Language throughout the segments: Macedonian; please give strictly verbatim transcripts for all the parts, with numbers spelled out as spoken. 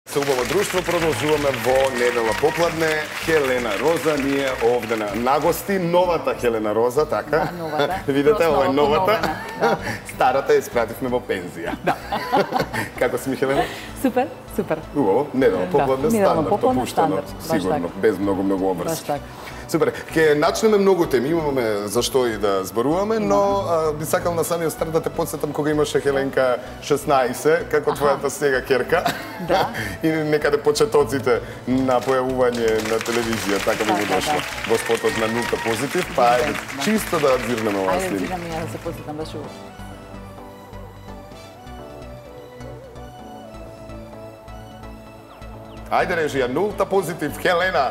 Со убаво друштво продолжуваме во недела попладне. Хелена Роза ни е овде на нагости. Новата Хелена Роза, така? Да, новата. Видете, ова е новата. Да. Старата ја испративме во пензија. Да. Како си ми, Хелена? Супер, супер. Убаво, недела попладне, Да, недела стандард, попладне, опуштено, стандард, баш сигурно, така. без многу многу Баш обрски. така. Супер, ќе начнеме многу теми, имаме за што и да зборуваме, но а, би сакал на самиот старт да те потсетам кога имаше Хеленка шеснаесет, како твојата сега керка. Да. И некаде почетоците на појавување на телевизија, така би му Така, дошло. да. Во спотот на нулта позитив, па ајде, Да. чисто да адвирнеме оваа Ајде, снимка. зидам и ја да се посетам, баш убаво. Ајде режија, нулта позитив, Хелена.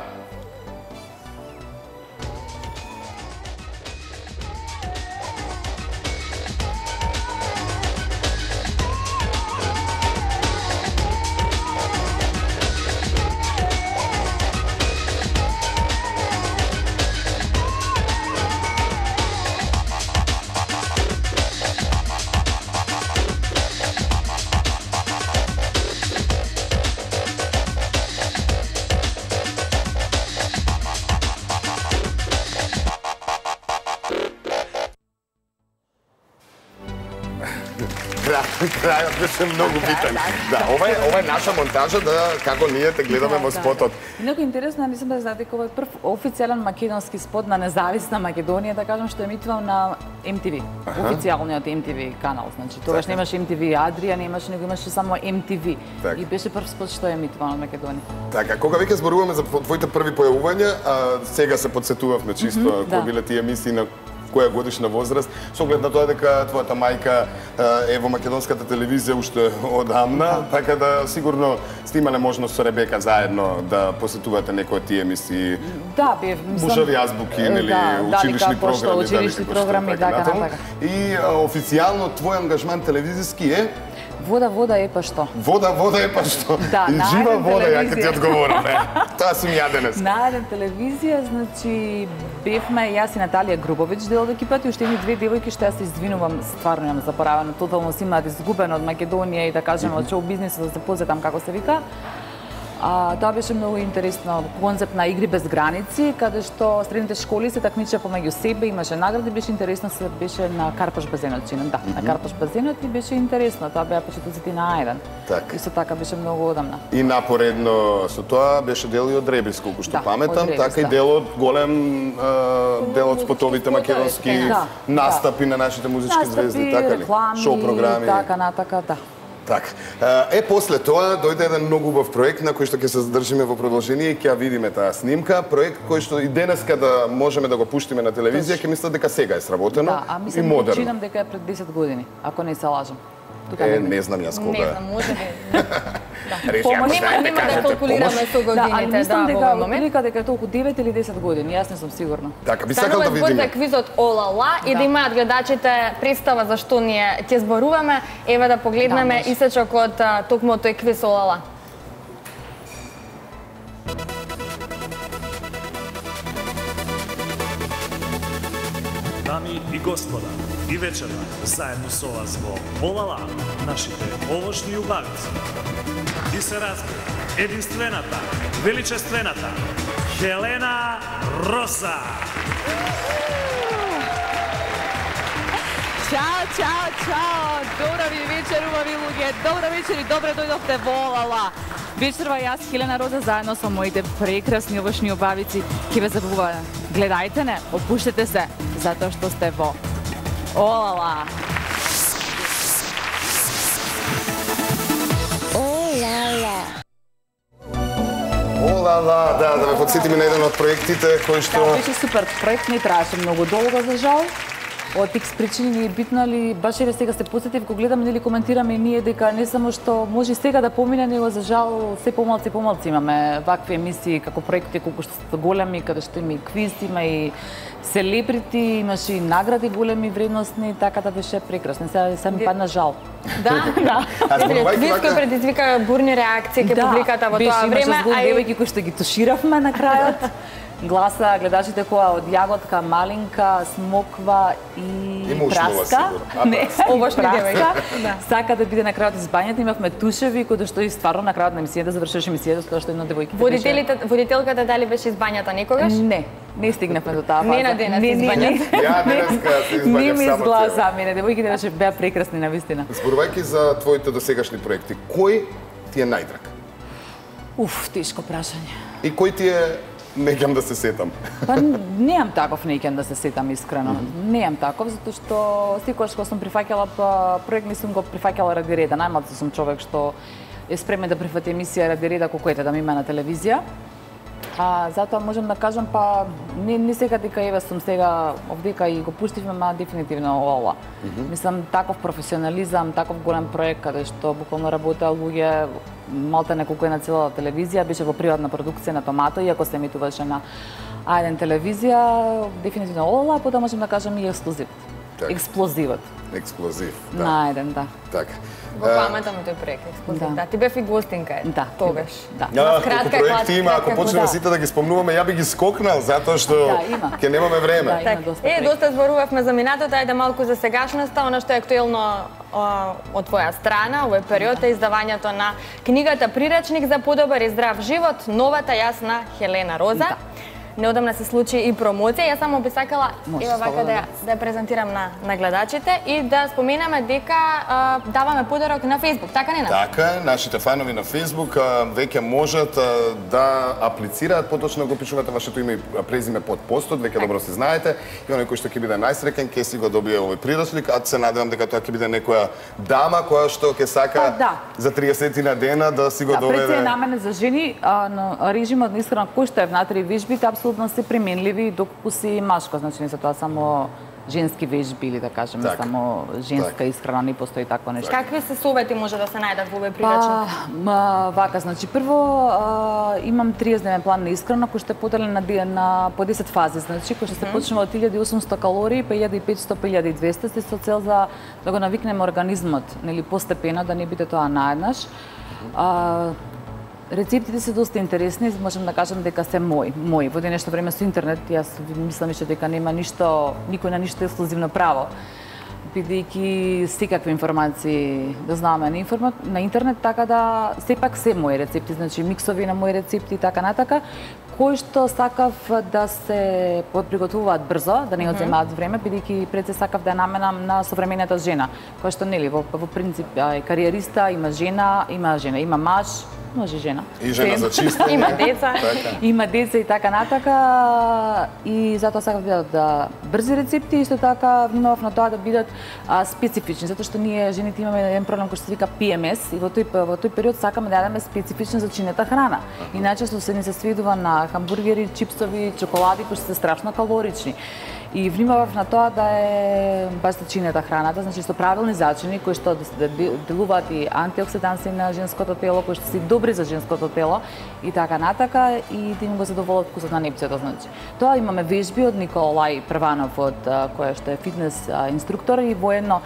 Крајот беше многу битен. Да, ова е ова е наша монтажа да како ние те гледаме во спотот. Многу интересно, не сум да знаете кога е прв официјален македонски спот на независна Македонија, да кажам, што емитувам на Ем Ти Ви, официјалниот Ем Ти Ви канал. Значи, тогаш немаше Ем Ти Ви Адрија, немаше, него имаше само Ем Ти Ви. Так. И беше прв спот што емитуван од Македонија. Така, кога веќе зборуваме за твоите први појавувања, а, сега се подсетувавме чисто кои да. биле тие емисии на која годишна возраст, со оглед на тоа дека твојата мајка е во македонската телевизија уште одамна, така да сигурно сте имале можност со Ребека заедно да посетувате некои од тие емисии. Да, бев, мислам... Мужави азбуки, нели, да, училишни дали како што, програми, училишни дали како што, програми, така, натаму. така. И а, официјално твој ангажман телевизиски е Вода, вода е па што. Вода, вода е па што. Да, И на жива еден вода, ја ќе ти телевизија. одговорам, е. Тоа сум ја денес. На еден телевизија, значи, бевме јас и Наталија Грубович дел од екипата и уште едни две девојки што јас се извинувам, стварно јам заборавено, тотално си имаат изгубено од Македонија и да кажеме од шоу бизнисот да се позетам како се вика. А, тоа беше многу интересно концепт на игри без граници, каде што средните школи се такмичеа помеѓу себе, имаше награди, беше интересно, се беше на Карпаш базенот, чинам, да, на Карпаш базенот и беше интересно, тоа беа почетоците на еден. Так. Исто така беше многу одамна. И напоредно со тоа беше дел и од Ребис, колку што Да, паметам, од Ребис, така и да. дел од голем е, дел од спотовите македонски Да, настапи на нашите музички звезди, така ли? реклами, Шоу програми. така натака, да. Така. Е, после тоа дојде еден многу убав проект на кој што ќе се задржиме во продолжение и ќе ја видиме таа снимка. Проект кој што и денеска да можеме да го пуштиме на телевизија, ќе мислат дека сега е сработено Да, а и мислам, модерно. починам дека е пред десет години, ако не се лажам. Тука Е, негде. не знам јас кога Не е. знам, може би. Речи, ако Нема, знаете, нема да кажете калкулираме помош. со Да, али годините, мислам да, во дека овој момент. отприлика дека е толку девет или десет години, јас не сум сигурна. Така, би сакал Станува да збор за видиме. квизот Олала и да Да. имаат гледачите представа за што ние ќе зборуваме. Еве да погледнеме Да, може. исечок од а, токму тој квиз Олала. Дами и господа, и вечера, заедно со вас во Олала, нашите овошни убавици. И се разбира, единствената, величествената, Хелена Роза. Чао, чао, чао! Добра ви вечер, убави луѓе! Добра вечер и добре дојдовте во Олала! Вечерва јас, Хелена Роза, заедно со моите прекрасни овошни убавици, ќе ве забавуваме. Гледајте не, опуштете се, затоа што сте во Олала! Олала, да, да ме подсетиме на еден од проектите кој што Да, беше супер проект, не траеше многу долго за жал. Од икс причини ни е битно, али баш еве сега се посетив, го гледаме или коментираме и ние дека не само што може сега да помине, него за жал се помалци помалци имаме вакви емисии како проекти колку што се големи, каде што има и квиз, има и селебрити, имаше и награди големи, вредностни, така да беше прекрасно. Сега се ми падна жал. Да, да. Виско предизвика бурни реакции кај публиката во тоа време, а и девојки кои што ги туширавме на крајот. Гласа гледачите која од јаготка, малинка, смоква и, и праска. Не, овошни девојки. Сака да биде на крајот избањата, имавме тушеви кои што и стварно на крајот на емисијата завршеше емисијата со тоа што една девојка. Водителите, водителката дали беше избањата некогаш? Не. Не стигнавме до таа фаза. Не на денес избањата. Ја денеска се избањав само. Не ми изгласа мене, девојките беше беа прекрасни навистина. Зборувајќи за твоите досегашни проекти, кој ти е најдраг? Уф, тешко прашање. И кој ти е неќам да се сетам? Па неам таков неќам да се сетам искрено. Mm -hmm. Неам таков затоа што секогаш кога сум прифаќала проект, не сум го прифаќала ради реда. Најмалку сум човек што е спремен да прифати емисија ради реда колку ете да ми има на телевизија. А затоа можам да кажам па не не сега дека еве сум сега овдека и го пуштивме, ма дефинитивно ова. Mm -hmm. Мислам таков професионализам, таков голем проект каде што буквално работеа луѓе малта неколку е на целата телевизија, беше во приватна продукција на Томато, иако се емитуваше на А еден телевизија, дефинитивно ова, потоа можам да кажам и експлозив. Так. Експлозивот. Експлозив, да. На еден, да. Така. Во памета ми тој проект, експлозив. Да. Да, ти бев и гостинка е. Да. Тогаш. Да. Ja, колку проекти има, ако почнеме сите да ги спомнуваме, ја би ги скокнал затоа што ќе немаме време. Да, има доста. Е, доста зборувавме за минатото, ајде малку за сегашноста, она што е актуелно од твоја страна, овој период е издавањето на книгата Прирачник за подобар и здрав живот, новата јасна Хелена Роза. Да. Неодамна се случи и промоција. Јас само би сакала ева вака да ја, да ја презентирам на, на гледачите и да споменаме дека а, даваме подарок на Facebook, така не на? Така е, нашите фанови на Facebook а, веќе можат а, да аплицираат, поточно го пишувате вашето име и презиме под постот, веќе добро се знаете. И оној кој што ќе биде најсреќен ќе си го добие овој приручлик, а се надевам дека тоа ќе биде некоја дама која што ќе сака а, да. за триесет на дена да си го да, доведе. Да, преција намене за жени, а, но режимот на исхрана кој што е внатре вежбите апсолутно се применливи доколку си машко, значи не се тоа само женски вежби или да кажеме так. Само женска так. Исхрана, не постои такво нешто. Какви се совети може да се најдат во овој прирачник? Па, вака, значи прво а, имам триесетдневен план на исхрана кој што е поделен на, на по десет фази, значи кој што се почнува од илјада и осумсто калории, па илјада и петсто, па илјада и двесте, се со цел за да го навикнеме организмот, нели постепено да не биде тоа наеднаш. А, Рецептите се доста интересни, можам да кажам дека се мои. Мои. Во денешно време со интернет, јас мислам што дека нема ништо, никој на ништо ексклузивно право. Бидејќи секакви информации да знаме на, информа... на интернет, така да сепак се мои рецепти, значи миксови на мои рецепти и така натака, кои што сакав да се приготвуваат брзо, да не одземаат време, бидејќи пред се сакав да наменам на современата жена, која што нели во, во принцип е кариериста, има жена, има жена, има маж, може жена. И жена за чисто. Има деца. Има деца и така натака. И затоа сакав да бидат да брзи рецепти и исто така внимавав на тоа да бидат а, специфични, затоа што ние жените имаме еден проблем кој што се вика Пи Ем Ес и во тој во тој период сакаме да јадеме специфична за чинета храна. И најчесто се ни се сведува на хамбургери, чипсови, чоколади кои се страшно калорични. И внимавав на тоа да е баш чинета храната, значи со правилни зачини кои што да делуваат и антиоксиданси на женското тело, кои што се добри за женското тело и така натака и да им го задоволат вкусот на непцето, значи. Тоа имаме вежби од Николај Прванов од кој што е фитнес инструктор и воедно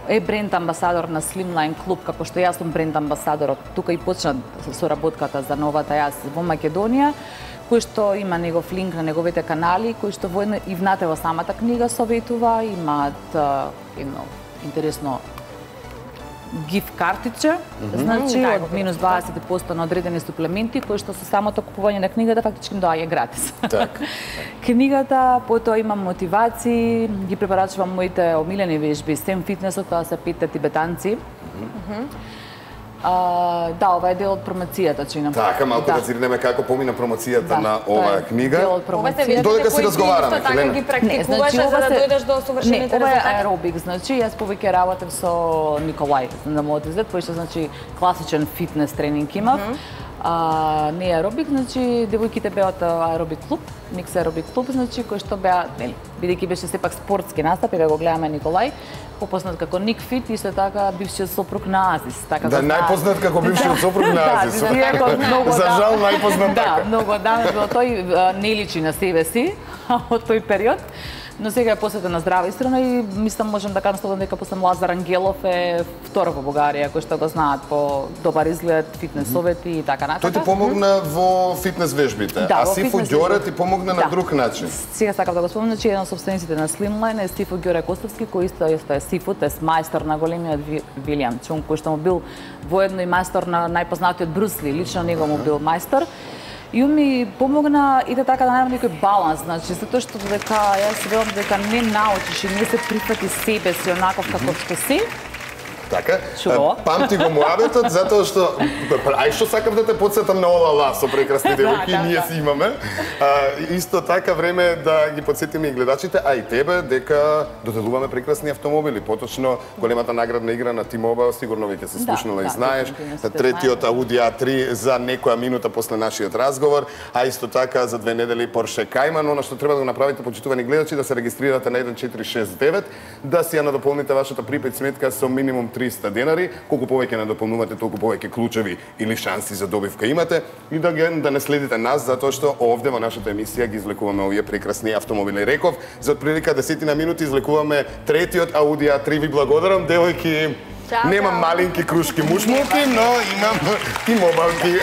е бренд амбасадор на Slimline Club, како што јас сум бренд амбасадор, тука и почна соработката за новата јас во Македонија, кој што има негов линк на неговите канали, кој што воедно и внатре во самата книга советува, имаат едно интересно гиф картиче, mm -hmm. значи mm -hmm. од минус дваесет проценти на одредени суплементи, кои што со самото купување на книгата фактички доаѓа гратис. Так. Книгата, потоа имам мотивации, ги препорачувам моите омилени вежби, сем фитнесот, тоа се петте тибетанци. Mm -hmm. А, да, ова е дел од промоцијата, чинам. Така, малку да зирнеме како помина промоцијата да, на оваа книга. Дел од промоцијата. Додека си разговараме, Хелена. Ги практикуваше за да дојдеш до совршените резултати. Не, ова е аеробик, значи јас повеќе работев со Николај на мојот изглед, кој што значи класичен фитнес тренинг имав. Mm -hmm. А, не аеробик, значи девојките беа од аеробик клуб, микс аеробик клуб, значи кој што беа, нели, бидејќи беше сепак спортски настап и да го гледаме Николај, попознат како Ник Фит и исто така бившиот сопруг на Азис, така да, најпознат како бившиот сопруг на Азис. Да, многу за жал најпознат така. Да, многу давно тој не личи на себе си од тој период. Но сега е посветена на здрава исхрана и мислам можам да кажам слободно дека после Лазар Ангелов е втор во Бугарија кој што го знаат по добар изглед, фитнес совети и така натака. Тој ти помогна во фитнес вежбите, да, а Сифо Ѓоре ти помогна да. на друг начин. Сега сакам да го спомнам, че еден од собствениците на Slimline е Сифо Ѓоре Костовски, кој исто е Сифо, е мајстор на големиот Вилијам Чунг, кој што му бил воедно и мајстор на најпознатиот Брус Ли, лично него му бил мајстор. И он ми помогна и да така да најдам некој баланс, значи затоа што дека јас велам дека не научиш и не се прифати себе си онаков како што си. Така? Чува? Памти го муабетот затоа што ај што сакам да те потсетам на Олала со прекрасни девојки, да, ние да. си имаме. А, исто така време е да ги потсетиме и гледачите, а и тебе дека доделуваме прекрасни автомобили. Поточно големата наградна игра на T-Mobile, сигурно веќе се слушнала да, и знаеш. да, Третиот Audi А три за некоја минута после нашиот разговор, а исто така за две недели Porsche Cayman. Она што треба да го направите, почитувани гледачи, да се регистрирате на еден четири шест девет, да си ја надополните вашата припет сметка со минимум триста денари, колку повеќе надополнувате, толку повеќе клучеви или шанси за добивка имате и да ги да не следите нас затоа што овде во нашата емисија ги излекуваме овие прекрасни автомобили. Реков, за отприлика десетина минути излекуваме третиот Audi А три. Ви благодарам, девојки. Чао, Немам чао. малинки крушки мушмулки, но имам T-Mobile-ки.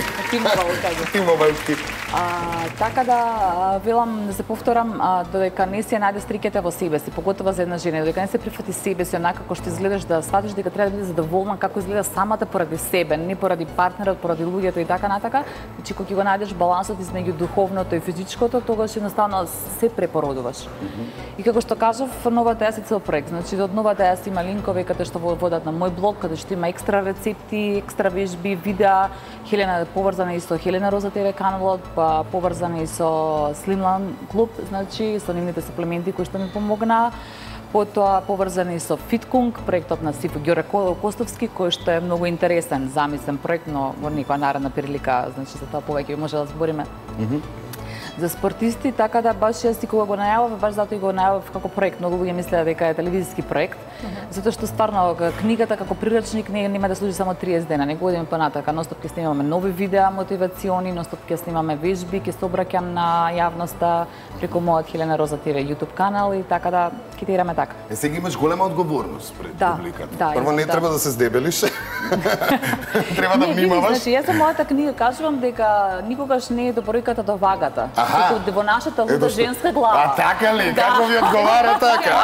T-Mobile-ки. А, така да а, велам да се повторам а, додека не си ја најде стриките во себе си, поготово за една жена, додека не се прифати себе си онака како што изгледаш, да сватиш дека треба да биде задоволна како изгледа самата поради себе, не поради партнерот, поради луѓето и така натака. Значи кога ќе го најдеш балансот измеѓу духовното и физичкото, тогаш едноставно се препородуваш. Mm -hmm. И како што кажав, новата јас е цел проект. Значи од новата јас има линкови каде што водат на мој блог, каде што има екстра рецепти, екстра вежби, видеа, Хелена поврзана и со Хелена Роза ТВ каналот, па поврзана и со Slimline клуб, значи со нивните суплементи кои што ми помогнаа. Потоа поврзани со Фиткунг, проектот на Сифо Ѓоре Костовски, кој што е многу интересен, замислен проект, но во некоја наредна прилика, значи за тоа повеќе може да збориме. Mm -hmm. За спортисти, така да баш јас и кога го најавав, баш затоа и го најавав како проект. Многу луѓе мислеа дека е телевизиски проект, mm -hmm. затоа што стварно книгата како прирачник не нема да служи само триесет дена, него одиме понатака. Ностоп ќе снимаме нови видеа, мотивациони, ностоп ќе снимаме вежби, ќе се обраќам на јавноста преку мојот Хелена Роза ТВ YouTube канал и така да ќе тираме така. Е, сега имаш голема одговорност пред да, публиката. Да, Прво не да. треба да се здебелиш. Треба да внимаваш. Значи, јас со мојата книга кажувам дека никогаш не е до бројката до вагата. Аха. Туку во нашата луда женска глава. А така ли? Да. Како ви одговара така?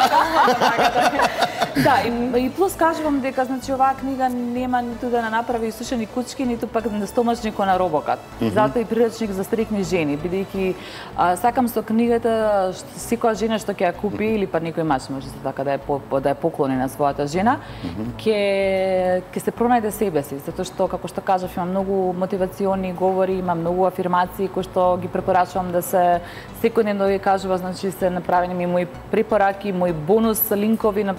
Да, и, и плюс кажувам дека значи оваа книга нема ниту да не направи сушени кучки, ниту пак на стомачникот на робокат. Mm -hmm. Затоа и прирачник за стрикни жени, бидејќи сакам со книгата што секоја жена што ќе ја купи или па некој мач може така да е по, да е поклони на својата жена, ќе mm -hmm. ќе се пронајде себе си, затоа што како што кажав има многу мотивациони говори, има многу афирмации кои што ги препорачувам да се секојдневно ги кажува, значи се направени ми мои препораки, мои бонус линкови на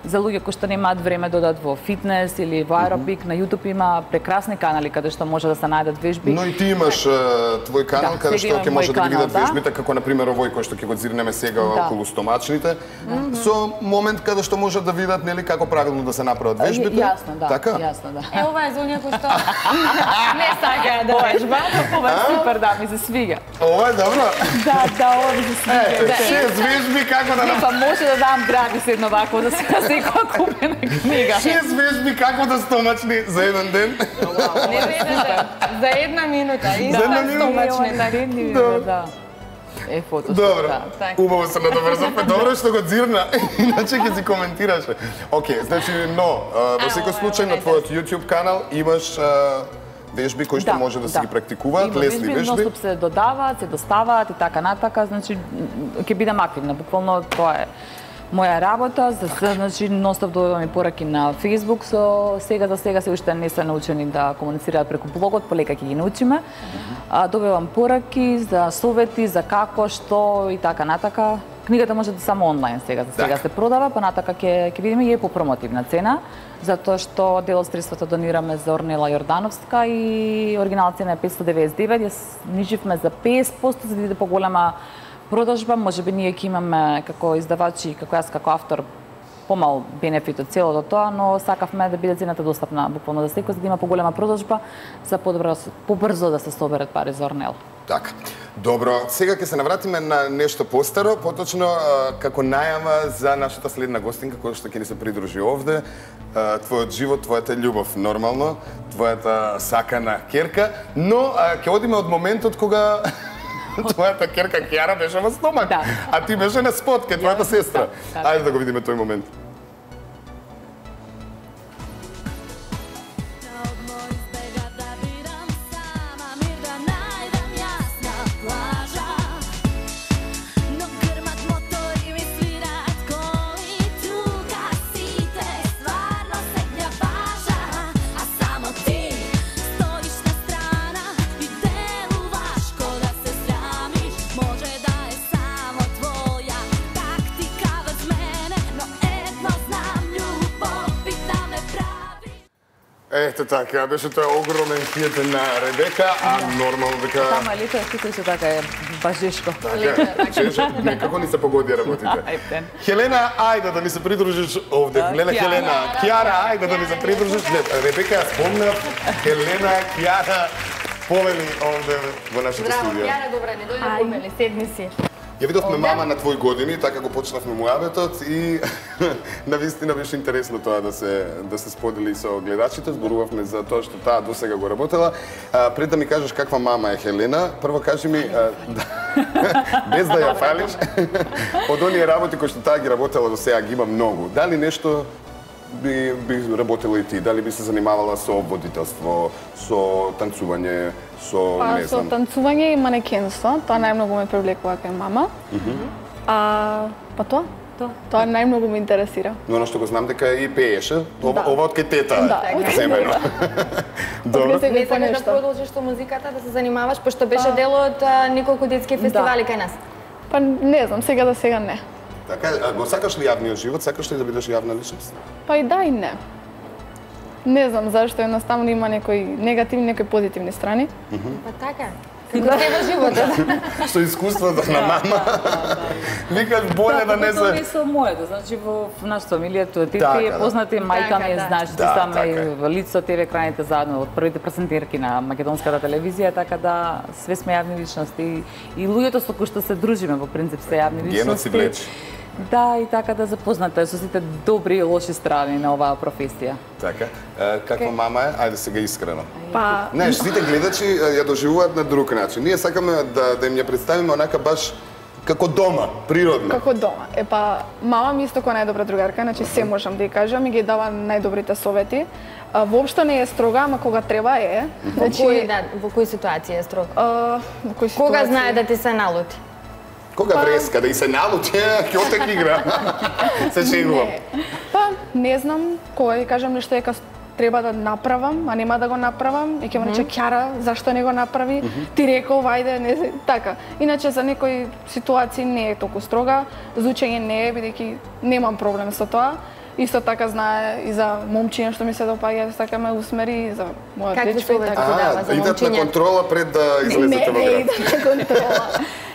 за луѓе кои што немаат време да одат во фитнес или во аеробик. Mm -hmm. На YouTube има прекрасни канали каде што може да се најдат вежби. Но и ти имаш твој канал да, каде што ќе може да ги видат да. вежбите, како на пример овој кој што ќе го зирнеме сега да. околу стомачните. Mm -hmm. Со момент каде што може да видат нели како правилно да се направат вежбите. Јасно, да. Така? Јасно, да. Е, ова е за оние кои што не сакаат да вежба. Ова е супер, да, ми се свига. Ова е добро. Да, да, ова ми се свига. Е, шест вежби како да... Не, па може да дам градис едно вако, да се секоја купена книга. Шест вежби како да стомачни за еден ден. Не ведете, за една минута, и за една минута. стомачни, така. Да, да. Е, фото. Добро, така. убаво се надоврзавме. Добро што го дзирна, иначе ќе си коментираше. Океј, значи, но, во секој случај на твојот YouTube канал имаш вежби кои што да, може да се да. ги практикуваат, лесни вежби. Ностоп се додаваат, се доставаат и така натака, значи ќе бидам активна. Буквално тоа е моја работа, за значи ностоп добивам и пораки на Facebook, со сега за сега се уште не се научени да комуницираат преку блогот, полека ќе ги научиме. А, добивам пораки за совети, за како, што и така натака. Книгата може да само онлайн сега, за сега се продава, па натака ќе ќе видиме и е по промотивна цена, затоа што дел од средствата донираме за Орнела Јордановска и оригиналната цена е петстотини деветдесет и девет, јас ниживме за песет проценти за да биде поголема продажба, можеби ние ќе имаме како издавачи, како јас како автор помал бенефит од целото тоа, но сакавме да биде цената достапна буквално за секој, за да има поголема продажба, за подобро, побрзо да се соберат пари за Орнел. Така. Добро, сега ќе се навратиме на нешто постаро, поточно како најава за нашата следна гостинка која што ќе ни се придружи овде. Твојот живот, твојата љубов, нормално, твојата сакана ќерка, но ќе одиме од моментот кога твојата ќерка Кјара беше во стомак, да. А ти беше на спот ке твојата сестра. Да, да. Ајде да го видиме тој момент. Ето така, беше тоа огромен хит на Ребека, а нормално дека... Тама е лето, ти се така е бажешко. Така, чешо, некако ни се погоди работите. Хелена, ајде да ни се придружиш овде. Хелена, Хелена, Кјара, ајде да ни се придружиш. Ребека, ја спомнав, Хелена, Кјара, повели овде во нашето студио. Браво, Кјара, добре, не дојде помели, седни си. Ја видовме мама на твои години, така го почнавме муабетот и навистина беше интересно тоа да се да се сподели со гледачите. Зборувавме за тоа што таа досега го работела. А, пред да ми кажеш каква мама е Хелена, прво кажи ми а, да, без да ја фалиш, од оние работи кои што таа ги работела до сега ги има многу. Дали нешто би би работела и ти? Дали би се занимавала со водителство, со танцување, со па, не знам? Со танцување и манекенство, тоа најмногу ме привлекува кај мама. Uh -huh. А па тоа? Тоа. Тоа најмногу ме интересира. Но оно што го знам дека и пееше, ова, да. ова од кај тета. Да, земено. Добро. Не сакаш да продолжиш со музиката, да се занимаваш, пошто беше дел од неколку детски фестивали да. кај нас. Па не знам, сега да сега не. Така, го сакаш ли јавниот живот? Сакаш ли да бидеш јавна личност? Па и да и не. Не знам зашто едноставно има некои негативни, некои позитивни страни. Uh -huh. Па така. Како да е во животот. Со искуството на мама. Викаш боле да не се... Тоа е со моето, значи во нашата фамилија тоа ти Така, е да. познати, мајка ми е, да. знаеш, ти Да, саме така е. лицо тебе крајните заедно од првите презентерки на македонската телевизија, така да све сме јавни личности и, и луѓето со кои што се дружиме во принцип се јавни личности. Генот си влечи. Да, и така да запозната со сите добри и лоши страни на оваа професија. Така. Е, каква мама е? Ајде сега искрено. Па Не, сите гледачи ја доживуваат на друг начин. Ние сакаме да да им ја представиме онака баш како дома, природно. како дома. Е па мама ми исто која најдобра другарка, значи се можам да ја кажам и ги дава најдобрите совети. А, воопшто не е строга, ама кога треба е. Во кои да, во кои ситуации е строг? А, во кои ситуации? Кога знае да ти се налути? Кога вреска да и се налути, ќе отек игра. Се шегувам. Па не знам, кога ја кажам нешто дека треба да направам, а нема да го направам, и ќе ме рече Кјара, зашто не го направи? Ти реков, ајде, не се, така. Иначе за некои ситуации не е толку строга, за учење не е, бидејќи немам проблем со тоа. Исто така знае и за момчиња што ми се допаѓа, така ме усмери и за мојот Какви дечко и совети така. ти дава за идат на момчиња? контрола пред да излезете во Не, не град. идат на контрола.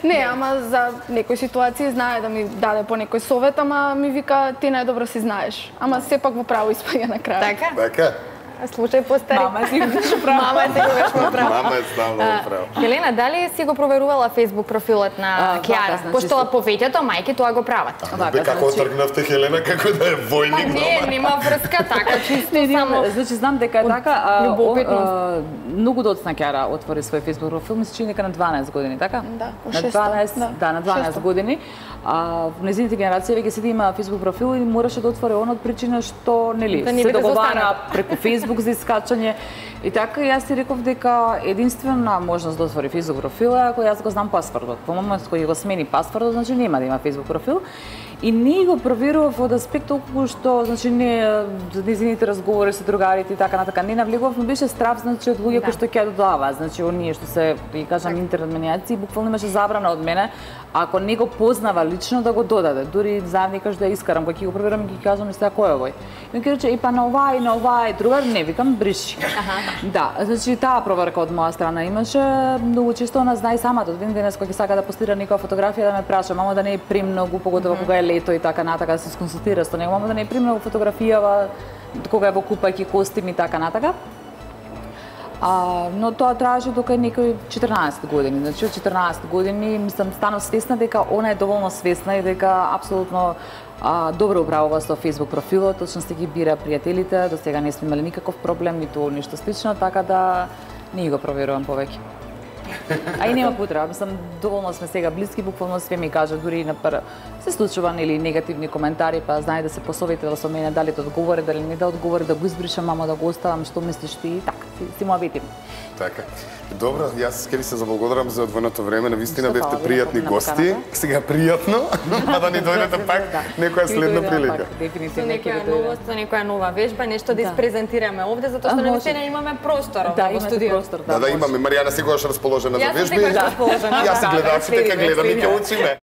Не, ама за некои ситуации знае да ми даде по некој совет, ама ми вика ти најдобро си знаеш. Ама сепак во право испаѓа на крај. Така? Така. Слушај постари. Мама си го право. Мама е секогаш во право. Мама е ставно во право. Хелена, дали си го проверувала Facebook профилот на А, Кјара? вака, значи, Пошто се- повеќето мајки тоа го прават. Вака, Бе, како значи- тргнавте Хелена, како да е Па војник не, дома. нема врска, така чисто Не, само. значи знам дека е така, а, љубопитност. о, а, многу доцна Кјара отвори свој Facebook профил, ми се чини дека на дванаесет години, така? Да, на шеста, дванаесет, да, да, на дванаесет шеста. години. А во незините генерација веќе седи има Facebook профил и мораше да отвори он од причина што нели Да не се биде договара застаната. преку Facebook за искачање. И така јас си реков дека единствена можност да отвори Facebook профил е ако јас го знам пасвордот. Во моментот кој го смени пасвордот, значи нема да има Facebook профил. И не го проверував од аспект толку што значи не за незините разговори со другарите и така натака не навлегував, но беше страв значи од луѓе кои што ќе додаваат, значи оние што се да кажам интернет манијаци, буквално имаше забрана од мене ако не го познава лично да го додаде. Дури заедно кажа да ја искарам, кога ќе го проверам ќе кажам исто кој е овој. И ќе рече и па на овај, на овај другар не. не викам, бриши. Да, значи таа проверка од моја страна имаше, многу често она знае самата, од ден денес кога ќе сака да постира некоја фотографија да ме праша, мамо да не е премногу, поготово кога е лето и така натака, да се сконсултира со него, мамо да не е премногу фотографијава, кога е во купајки костими и така натака. А, но тоа траеше дока некои четрнаесет години. Значи, од четрнаесет години, мислам, станав свесна дека она е доволно свесна и дека апсолутно а, добро управува со Facebook профилот, точно сте ги бира пријателите, до сега не сме имали никаков проблем, ниту ништо слично, така да не го проверувам повеќе. А и нема потреба, мислам, доволно сме сега блиски, буквално све ми кажа, дури на пр... се случува или негативни коментари, па знае да се посоветува со мене дали да одговори, дали не да одговори, да го избришам, мамо да го оставам, што мислиш ти и така, си, си му обетим. Така. Добро, јас ке ви се заблагодарам за одвоеното време, навистина бевте пријатни гости. Сега пријатно, па да ни дојдете пак некоја следна прилика. Со некоја новост, со некоја нова вежба, нешто да испрезентираме овде, затоа што навистина имаме простор во студио. Да, да имаме. Маријана секогаш расположена за вежби. Јас сум секогаш расположена. Јас и гледачите ќе гледам и ќе учиме.